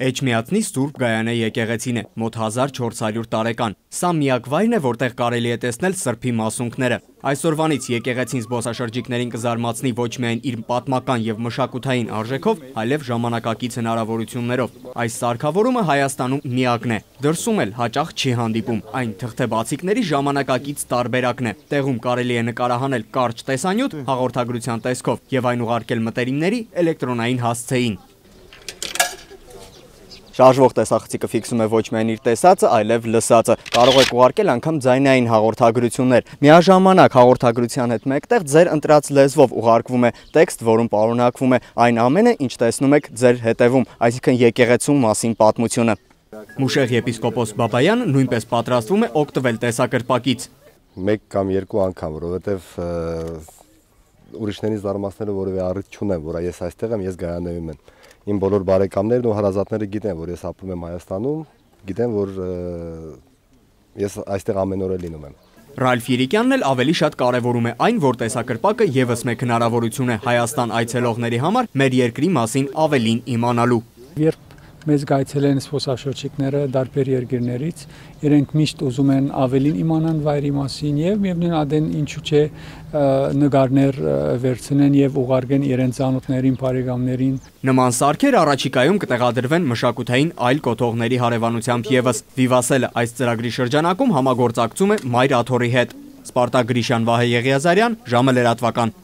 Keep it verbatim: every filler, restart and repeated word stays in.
Էջմիածնի Սուրբ Գայանե եկեղեցին է, մոտ հազար չորս հարյուր տարեկան։ Սա միակ վայրն է, որտեղ կարելի է տեսնել սրբի մասունքները։ Այսօրվանից եկեղեցին զբոսաշրջիկներին կզարմացնի ոչ միայն իր պատմական եւ մշակութային արժեքով, այլև ժամանակակից հնարավորություններով։ Այս սարքավորումը Հայաստանում միակն է։ Դրսում էլ հաճախ չի հանդիպում։ Այն թղթեբացիկների ժամանակակից տարբերակն է։ Տեղում կարելի է նկարահանել կարճ տեսանյութ հաղորդագրության տեսքով եւ այն ուղարկել մտերիմների էլեկտրոնային հասցեին։ Շարժվող տեսախցիկը ֆիքսում է ոչ միայն իր տեսածը, այլև լսածը։ Կարող եք ուղարկել անգամ ձայնային հաղորդագրություններ։ Միաժամանակ հաղորդագրության հետ մեկտեղ ձեր ընտրած լեզվով ուղարկվում է տեքստ, որում պարունակվում է այն ամենը, ինչ տեսնում եք ձեր հետևում, այսինքն եկեղեցու մասին պատմությունը։ Մուշեղ եպիսկոպոս Բաբայանը նույնպես պատրաստվում է օգտվել տեսակրպակից։ Մեկ կամ երկու անգամ, որովհետև ուրիշներին զարմացնելու որևէ առիթ չունեմ, որ ես այստեղ եմ, ես Գայանեում եմ։ Իմ բոլոր բարեկամներն ու հարազատները գիտեն, որ ես ապրում եմ Հայաստանում, գիտեն, որ ես այստեղ ամեն օր լինում եմ։ Ռալֆ Երիկյանն էլ ավելի շատ կարևորում է այն, որ տեսակրպակը եւս մեկ հնարավորություն է Հայաստան այցելողների համար մեր երկրի մասին ավելին իմանալու։ Երբ մեզ գայցելեն զբոսաշրջիկները տարբեր երկրներից, իրենք միշտ ուզում են ավելին իմանան վայրի մասին եւ միևնույն ադեն ինչու՞ չէ նկարներ վերցնեն եւ ուղարկեն իրենց ծանոթներին, բարեկամներին։ Նման սարքեր առաջիկայում կտեղադրվեն մշակութային այլ կոթողների հարևանությամբ եւս։ Վիվասելը այս ծրագրի շրջանակում համագործակցում է Մայր Աթոռի հետ։ Սպարտակ Գրիշյան, Վահե Եղիազարյան, ժամը լրատվական։